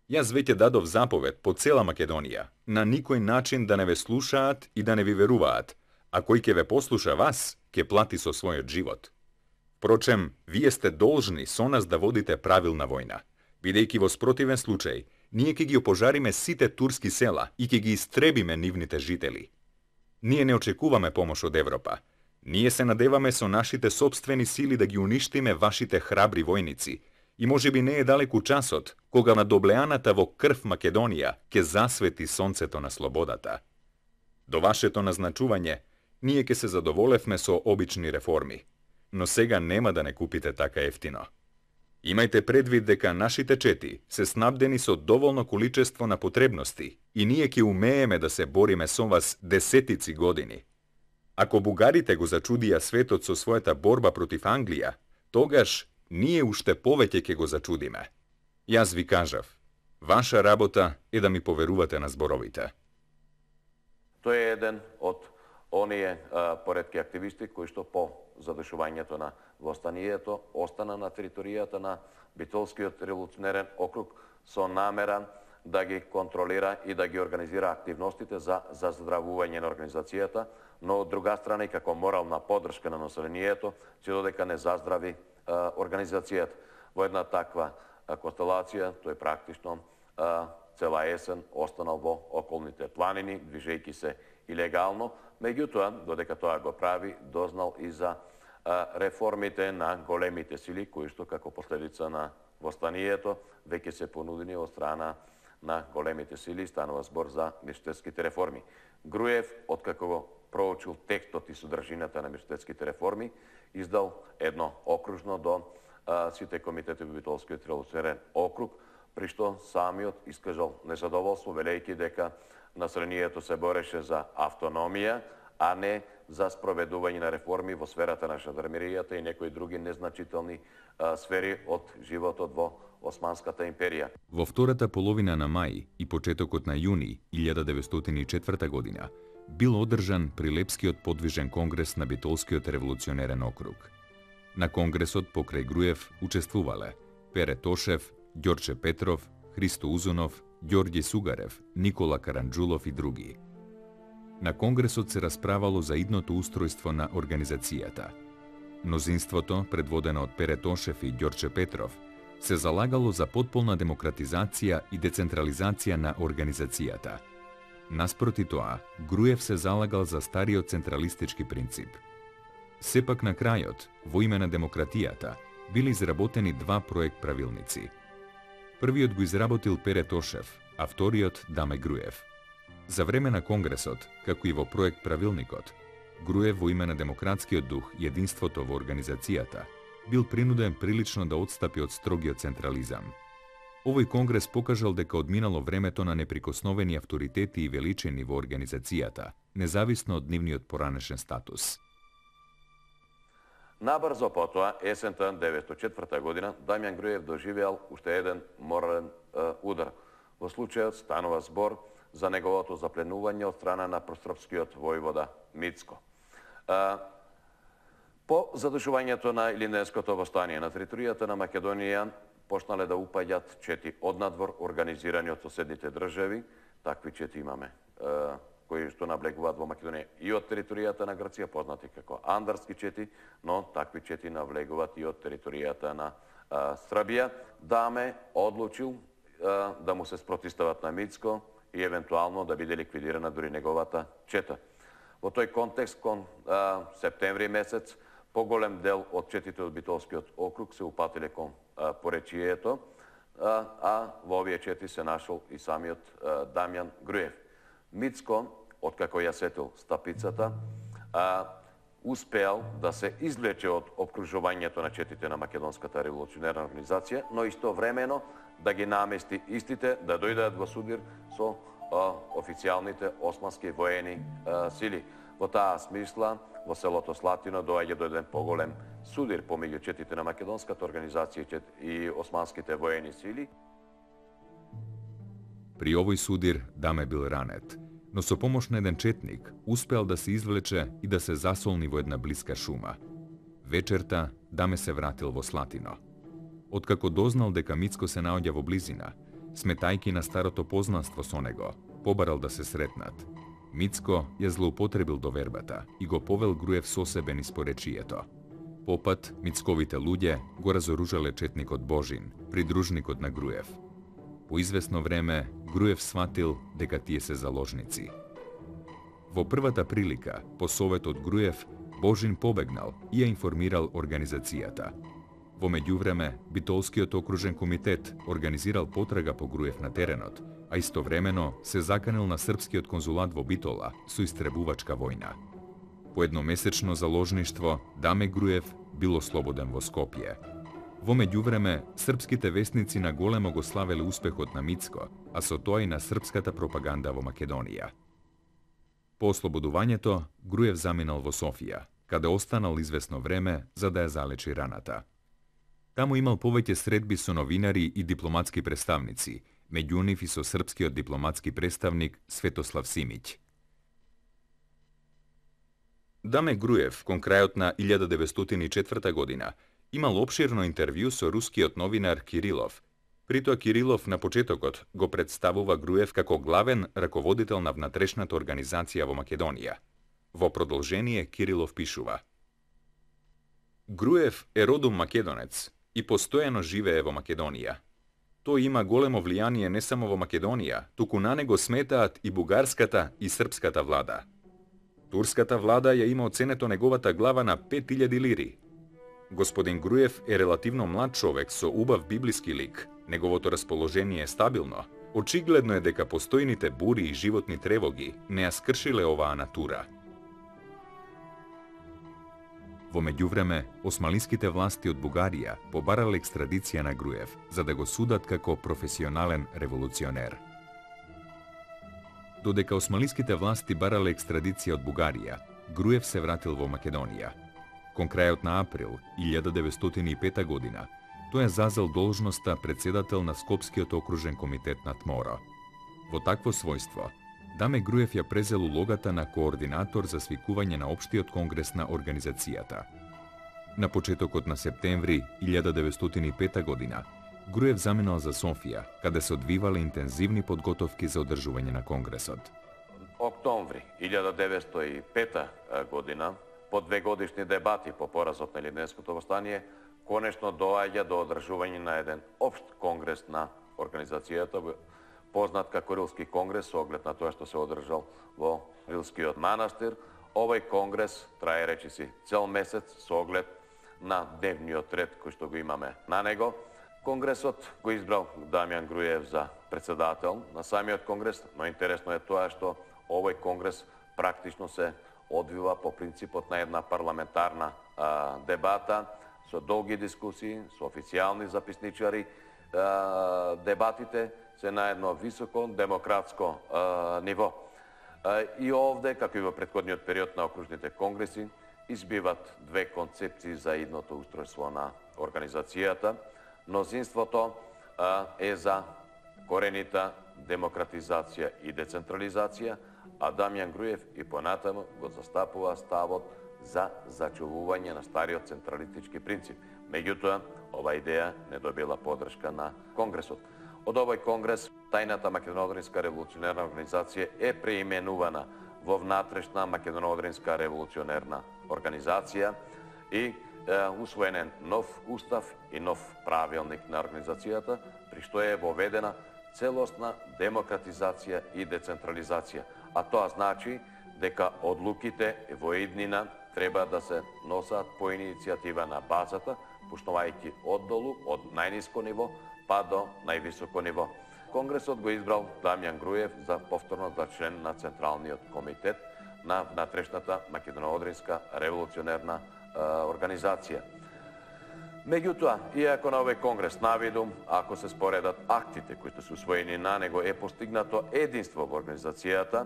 Јас веќе дадов заповед по цела Македонија, на никој начин да не ве слушаат и да не ви веруваат, а кој ќе ве послуша вас, ќе плати со својот живот. Впрочем, вие сте должни со нас да водите правилна војна, бидејќи во спротивен случај, ние ќе ги опожариме сите турски села и ќе ги истребиме нивните жители. Ние не очекуваме помош од Европа. Ние се надеваме со нашите собствени сили да ги уништиме вашите храбри војници и можеби не е далеку часот кога на доблеаната во крв Македонија ќе засвети сонцето на слободата. До вашето назначување, ние ќе се задоволевме со обични реформи, но сега нема да не купите така ефтино. Имајте предвид дека нашите чети се снабдени со доволно количество на потребности и ние ќе умееме да се бориме со вас десетици години. Ако бугарите го зачудија светот со својата борба против Англија, тогаш ние уште повеќе ќе го зачудиме. Јас ви кажав, ваша работа е да ми поверувате на зборовите. Тој е еден од оние а, поредки активисти кои што по задушувањето на востанието остана на територијата на Битолскиот револуционерен округ со намера да ги контролира и да ги организира активностите за заздравување на организацијата, но од друга страна и како морална поддршка на населението, че додека не заздрави а, организацијата. Во една таква а, констелација, тој практично а, цела есен останал во околните планини, движејќи се илегално, меѓутоа, додека тоа го прави, дознал и за а, реформите на големите сили, кои што како последица на востанието веќе се понудени од страна на големите сили, станува збор за миштетските реформи. Груев, откако го проучил текстот и содржината на миштетските реформи, издал едно окружно до а, сите комитети во Битолскиот револуционерен округ, при што самиот искажал незадоволство, велејќи дека населението се бореше за автономија, а не за спроведување на реформи во сферата на жандармеријата и некои други незначителни а, сфери од животот во Османската империја. Во втората половина на мај и почетокот на јуни илјада деветстотини и четврта година бил одржан Прилепскиот подвижен конгрес на Битолскиот револуционерен округ. На конгресот покрај Груев учествувале Пере Тошев, Ѓорче Петров, Христо Узунов, Ѓорѓи Сугарев, Никола Каранџулов и други. На конгресот се расправало за идното устројство на организацијата. Мнозинството, предводено од Пере Тошев и Ѓорче Петров, се залагало за потполна демократизација и децентрализација на организацијата. Наспроти тоа, Груев се залагал за стариот централистички принцип. Сепак на крајот, во име на демократијата, били изработени два проект правилници. Првиот го изработил Пере Тошев, а вториот Даме Груев. За време на конгресот, како и во проект правилникот, Груев во име на демократскиот дух и единството во организацијата, бил принуден прилично да отстапи од строгиот централизам. Овој конгрес покажал дека одминало времето на неприкосновени авторитети и величини во организацијата, независно од нивниот поранешен статус. Набрзо потоа, есента деветстотини и четврта година, Дамјан Груев доживеал уште еден морален е, удар. Во случајот станува збор за неговото запленување од страна на просрпскиот војвода Мицко. Е, по задушувањето на Илинденското востание на територијата на Македонија почнале да упаѓат чети однадвор организирани од соседните држави. Такви чети имаме, е, кои што наблегуваат во Македонија и од територијата на Грција, познати како андарски чети, но такви чети навлегуваат и од територијата на а, Србија. Даме одлучил а, да му се спротистават на Мицко и евентуално да биде ликвидирана дури неговата чета. Во тој контекст, кон а, септември месец, поголем дел од четите од Битолскиот округ се упатиле кон а, поречието, а, а во овие чети се нашол и самиот а, Дамјан Груев. Мицко, откако ја сетил стапицата, а, успеал да се извлече од обкружувањето на четите на Македонската револуционерна организација, но истовремено да ги намести истите да дојдат во судир со а, официјалните османски воени а, сили. Во таа смисла, во селото Слатино доаѓа до еден поголем судир помеѓу четите на Македонската организација и османските воени сили. При овој судир Даме бил ранет, но со помош на еден четник успеал да се извлече и да се засолни во една блиска шума. Вечерта Даме се вратил во Слатино. Откако дознал дека Мицко се наоѓа во близина, сметајки на старото познанство со него, побарал да се сретнат. Мицко ја злоупотребил довербата и го повел Груев со себе низ поречието. Попат, Мицковите луѓе го разоружале четникот Божин, придружникот на Груев. По известно време, Груев сватил дека тие се заложници. Во првата прилика, по совет од Груев, Божин побегнал и ја информирал организацијата. Во меѓувреме, Битолскиот окружен комитет организирал потрага по Груев на теренот, а истовремено се заканил на српскиот конзулат во Битола со истребувачка војна. По едномесечно заложништво, Даме Груев бил ослободен во Скопје. Во меѓувреме, српските весници на големо го славеле успехот на Мицко, а со тоа и на српската пропаганда во Македонија. По ослободувањето, Груев заминал во Софија, каде останал известно време за да ја залечи раната. Таму имал повеќе средби со новинари и дипломатски представници, меѓу нив и со српскиот дипломатски представник Светослав Симиќ. Даме Груев, кон крајот на илјада деветстотини и четврта година, имал обширно интервју со рускиот новинар Кирилов. Притоа Кирилов на почетокот го представува Груев како главен раководител на внатрешната организација во Македонија. Во продолжение Кирилов пишува: Груев е родом македонец и постојано живее во Македонија. Тој има големо влијание не само во Македонија, туку на него сметаат и бугарската и српската влада. Турската влада ја има оценето неговата глава на пет илјади лири. Господин Груев е релативно млад човек со убав библиски лик. Неговото расположение е стабилно. Очигледно е дека постојните бури и животни тревоги не ја скршиле оваа натура. Во меѓувреме, османлиските власти од Бугарија побарале екстрадиција на Груев, за да го судат како професионален револуционер. Додека османлиските власти барале екстрадиција од Бугарија, Груев се вратил во Македонија. Кон крајот на април илјада деветстотини и пета година, тој ја зазел должноста председател на Скопскиот окружен комитет на Тморо. Во такво својство, Даме Груев ја презел улогата на координатор за свикување на Општиот конгрес на организацијата. На почетокот на септември илјада деветстотини и пета година, Груев заминал за Софија, каде се одвивале интензивни подготовки за одржување на конгресот. Октомври илјада деветстотини и пета година, по две годишни дебати по поразот на Илинденското востание, конечно доаѓа до одржување на еден општ конгрес на организацијата, познат како Рилски конгрес, со оглед на тоа што се одржал во Рилскиот манастир. Овој конгрес трае речиси цел месец со оглед на дневниот ред кој што го имаме на него. Конгресот го избрал Дамјан Груев за председател на самиот конгрес, но интересно е тоа што овој конгрес практично се одвива по принципот на една парламентарна а, дебата, со долги дискусии, со официјални записничари. А, дебатите се на едно високо демократско а, ниво. И овде, како и во претходниот период на окружните конгреси, избиват две концепции за идното устројство на организацијата. Мнозинството е за коренита демократизација и децентрализација, а Дамјан Груев и понатаму го застапува ставот за зачувување на стариот централистички принцип. Меѓутоа, ова идеја не добила поддршка на Конгресот. Од овој Конгрес, тајната Македоно-одринска револуционерна организација е преименувана во внатрешна Македоно-одринска револуционерна организација и е, усвоен е нов устав и нов правилник на организацијата, при што е воведена целосна демократизација и децентрализација. А тоа значи дека одлуките во иднина треба да се носат по иницијатива на базата, пуштувајќи оддолу, од најниско ниво па до највисоко ниво. Конгресот го избрал Дамјан Груев за повторно за член на Централниот комитет на внатрешната Македоно-одринска револуционерна е, организација. Меѓутоа, иако на овој конгрес навиду, ако се споредат актите кои се усвоени на него, е постигнато единство во организацијата,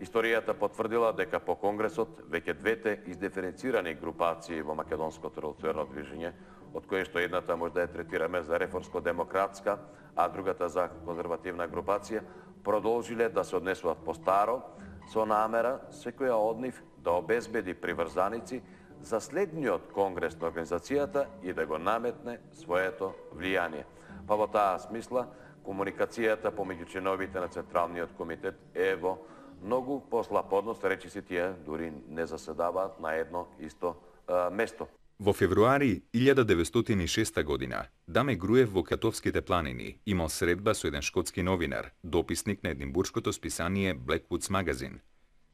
историјата потврдила дека по конгресот веќе двете издиференцирани групации во македонското револуционерно движење, од кои што едната може да ја третираме за реформско-демократска, а другата за конзервативна групација, продолжиле да се однесуваат по-старо, со намера секоја од нив да обезбеди приврзаници за следниот конгрес на организацијата и да го наметне своето влијание. Па во таа смисла, комуникацијата помеѓу членовите на Централниот комитет е во многу послаб однос, речиси тие дури не заседаваат на едно исто а, место. Во февруари илјада деветстотини и шеста година, Даме Груев во Катовските планини имал средба со еден шкотски новинар, дописник на единбуршкото списание Blackwood's Magazine.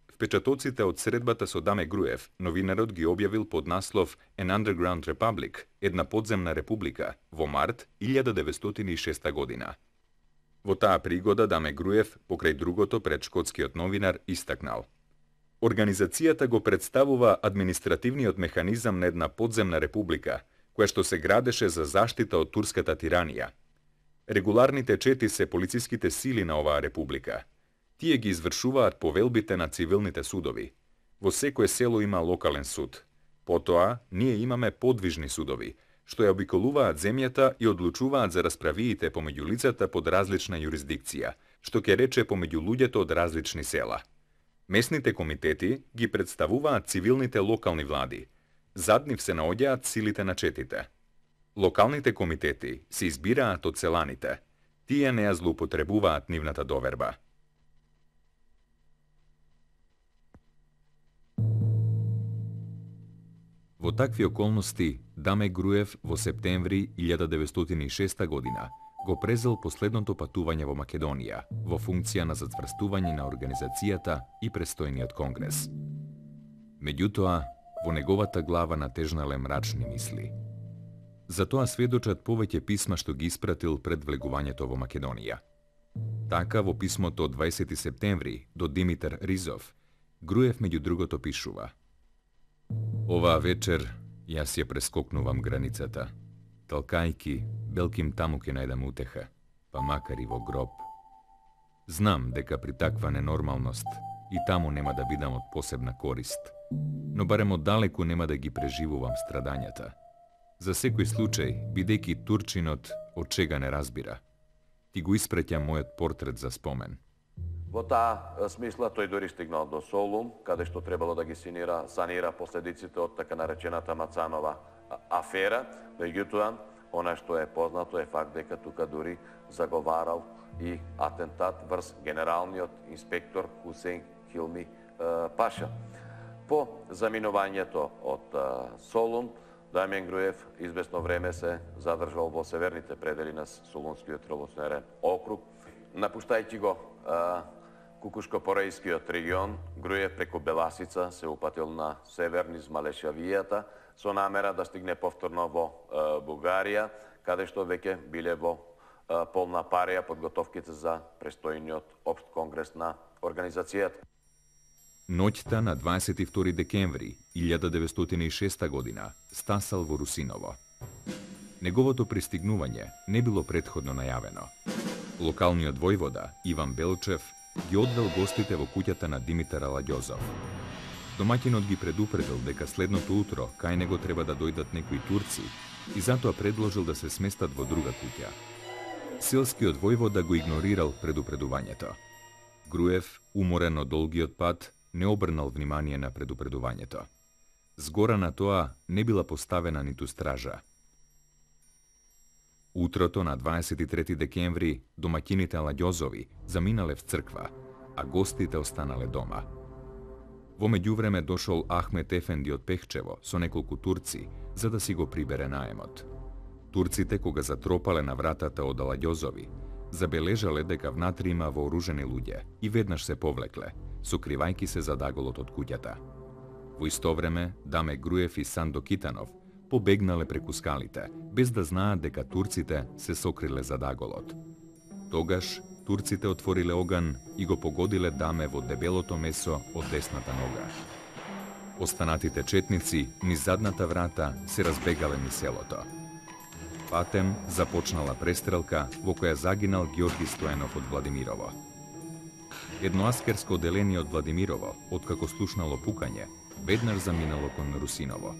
Впечатоците од средбата со Даме Груев, новинарот ги објавил под наслов An Underground Republic, една подземна република, во март илјада деветстотини и шеста година. Во таа пригода Даме Груев, покрај другото пред шкотскиот новинар, истакнал: Организацијата го представува административниот механизам на една подземна република, која што се градеше за заштита од турската тиранија. Регуларните чети се полициските сили на оваа република. Тие ги извршуваат повелбите на цивилните судови. Во секое село има локален суд. Потоа, ние имаме подвижни судови, што ја обиколуваат земјата и одлучуваат за расправиите помеѓу лицата под различна юрисдикција, што ќе рече помеѓу луѓето од различни села. Месните комитети ги представуваат цивилните локални влади. Зад нив се наоѓаат силите на четите. Локалните комитети се избираат од селаните. Тие не ја злоупотребуваат нивната доверба. Во такви околности, Даме Груев во септември илјада деветстотини и шеста година го презел последното патување во Македонија во функција на зацврстување на организацијата и престојниот конгрес. Меѓутоа, во неговата глава натежнале мрачни мисли. За тоа сведочат повеќе писма што ги испратил пред влегувањето во Македонија. Така, во писмото од дваесети септември до Димитар Ризов, Груев меѓу другото пишува: Оваа вечер јас ја прескокнувам границата. Талкајки, белким таму ке најдам утеха, па макар и во гроб. Знам дека при таква ненормалност и таму нема да бидам од посебна корист, но барем оддалеку нема да ги преживувам страдањата. За секој случај, бидејќи турчинот од чега не разбира, ти го испраќам мојот портрет за спомен. Во таа смисла тој дори стигнал до Солун, каде што требало да ги санира, санира последиците од така наречената Мацанова афера, меѓутоа, она што е познато е факт дека тука дури заговарал и атентат врз генералниот инспектор Хусейн Хилми Паша. По заминувањето од Солун, Дамјан Груев известно време се задржал во северните предели на Солунскиот револуционерен округ. Напуштајќи го Кукушко-Порејскиот регион, Груев преку Беласица се упатил на север низ Малешавијата со намера да стигне повторно во Бугарија, каде што веќе биле во полна парија подготовките за престојниот општ конгрес на организацијата. Ноќта на дваесет и втори декември илјада деветстотини и шеста година стасал во Русиново. Неговото пристигнување не било претходно најавено. Локалниот војвода Иван Белчев ги одвел гостите во куќата на Димитар Аладјозов. Домаќинот ги предупредил дека следното утро кај него треба да дојдат некои турци и затоа предложил да се сместат во друга куќа. Селскиот војвода го игнорирал предупредувањето. Груев, уморен од долгиот пат, не обрнал внимание на предупредувањето. Згора на тоа не била поставена ниту стража. Утрото на дваесет и трети декември домаќините Аладјозови заминале в црква, а гостите останале дома. Во меѓувреме дошол Ахмет Ефенди од Пехчево со неколку турци за да си го прибере наемот. Турците кога затропале на вратата од Аладјозови, забележале дека внатре има вооружени луѓе и веднаш се повлекле, сокривајки се за даголот од куќата. Во исто време, Даме Груев и Сандо Китанов побегнале преку скалите, без да знаат дека турците се сокриле за даголот. Тогаш, турците отвориле оган и го погодиле Даме во дебелото месо од десната нога. Останатите четници низ задната врата се разбегале низ селото. Патем започнала престрелка во која загинал Ѓорги Стоенов од Владимирово. Едно аскерско оделение од Владимирово, откако слушнало пукање, веднаш заминало кон Русиново.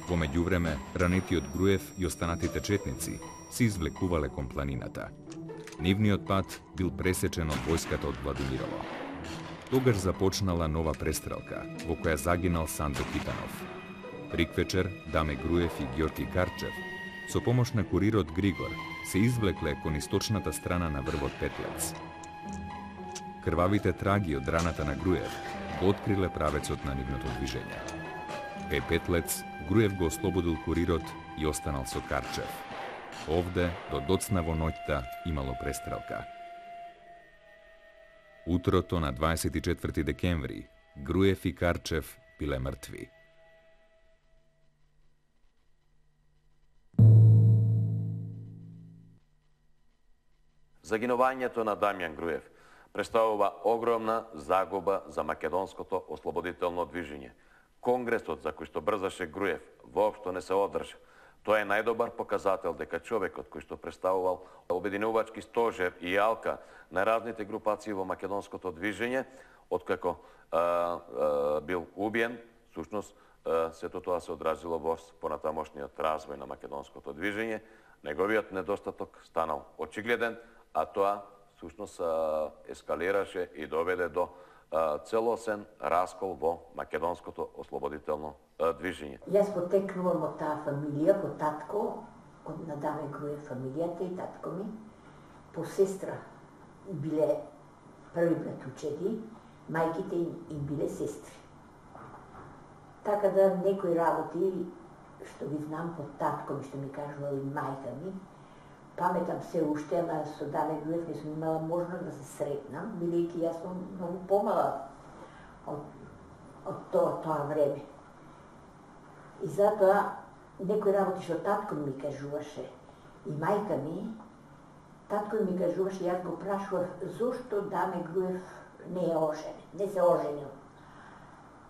Во меѓувреме, ранетиот Груев и останатите четници се извлекувале кон планината. Нивниот пат бил пресечен од војската од Владимирово. Тогаш започнала нова престрелка, во која загинал Сандо Китанов. Приквечер, Даме Груев и Ѓорги Карчев, со помош на курирот Григор, се извлекле кон источната страна на врвот Петлец. Крвавите траги од раната на Груев го откриле правецот на нивното движење. Кај Петлец, Груев го ослободил курирот и останал со Карчев. Овде, до доцна во ноќта, имало престрелка. Утрото на дваесет и четврти декември, Груев и Карчев биле мртви. Загинувањето на Дамјан Груев представува огромна загуба за македонското ослободително движење. Конгресот за кој што брзаше Груев воопшто не се одржа. Тоа е најдобар показател дека човекот кој што представувал обединувачки стожер и јалка на разните групации во македонското движење, откако а, а, бил убиен, всушност сето тоа се одразило во понатамошниот развој на македонското движење, неговиот недостаток станал очигледен, а тоа всушност ескалираше и доведе до целосен раскол во македонското ослободително движење. Јас потекнувам од таа фамилија, по татко, од на Даме Груев фамилијата и татко ми, по сестра биле први братучеди, мајките им, им биле сестри. Така да некои работи, што ги знам по татко ми, што ми кажувал и мајка ми, паметам се уште, ама со Даме Груев не сум имала можност да се сретнам, бидејќи јас сум многу помала од, од тоа, тоа време. И затоа некои работи што татко ми кажуваше и мајка ми, татко ми кажуваше, јас го прашував зошто Даме Груев не е оженен, не се оженил.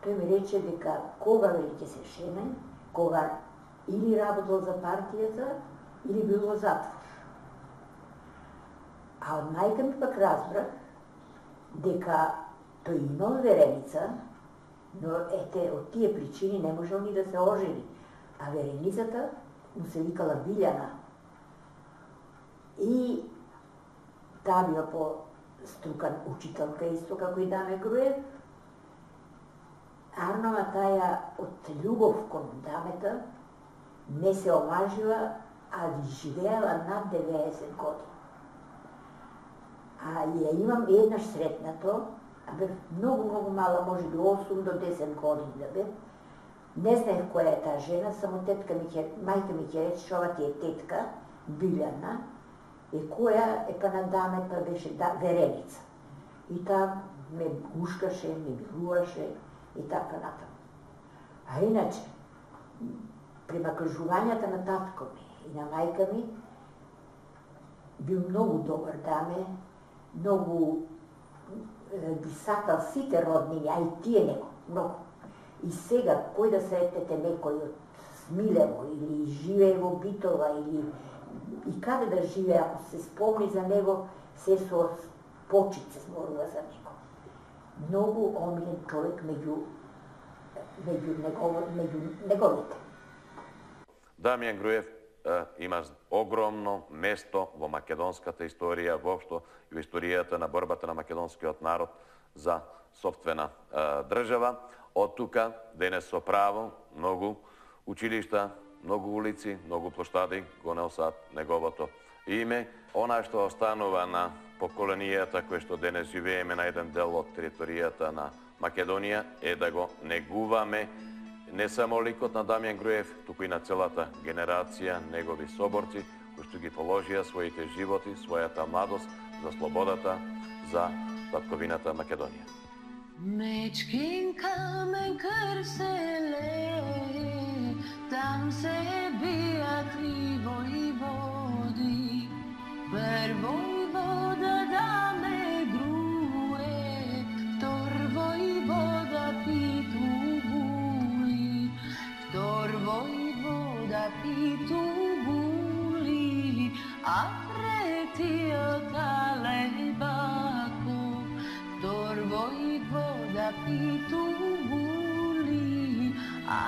Тој ми рече дека кога вели ќе се шеме, кога или работел за партијата, или бил во затвор. А од мајка ми пак разбрах дека тој имал вереница, но ете, од тие причини не можел ни да се ожени. А вереницата му се викала Билјана. И таа била по струкан учителка исто како и Даме Груев. Арнова таја од љубов кон Дамета не се омажила, а живеела над деветдесет години. А ја имам еднаш сретнато, а бев многу, многу мала, може би осум до десет години да бев. Не знаех која е таа жена, само тетка ми ќе, мајка ми ќе рече, ова ти е тетка, Билјана, и која е па на Дамета беше да, вереница. И таа ме гушкаше, ме билуваше и така натаму. А иначе, према кажувањата на татко ми и на мајка ми, бил многу добар Даме, многу ги сакал сите роднини, а и тие него, многу. И сега, кој да сретнете некој од Смилево, или живее во Битола, или и каде да живее, ако се спомни за него, се со почит се зборува за него. Многу омилен човек меѓу меѓу негово, меѓу неговите. Дамјан Груев е, има огромно место во македонската историја, воопшто и во историјата на борбата на македонскиот народ за сопствена е, држава. Од тука, денес со право, многу училишта, многу улици, многу плоштади го носат неговото име. Она што останува на поколенијата кои што денес живееме на еден дел од територијата на Македонија е да го негуваме не само ликот на Дамјан Груев, туку и на целата генерација негови соборци кои што ги положија своите животи, својата младост за слободата, за татковината Македонија. Мечкин камен крселе, там се бијат три војводи. Прво војвода Даме Груев, втор војвода Питу Були, втор војвода Питу Були, а третиот Алебаков, втор војвода Питу Були, а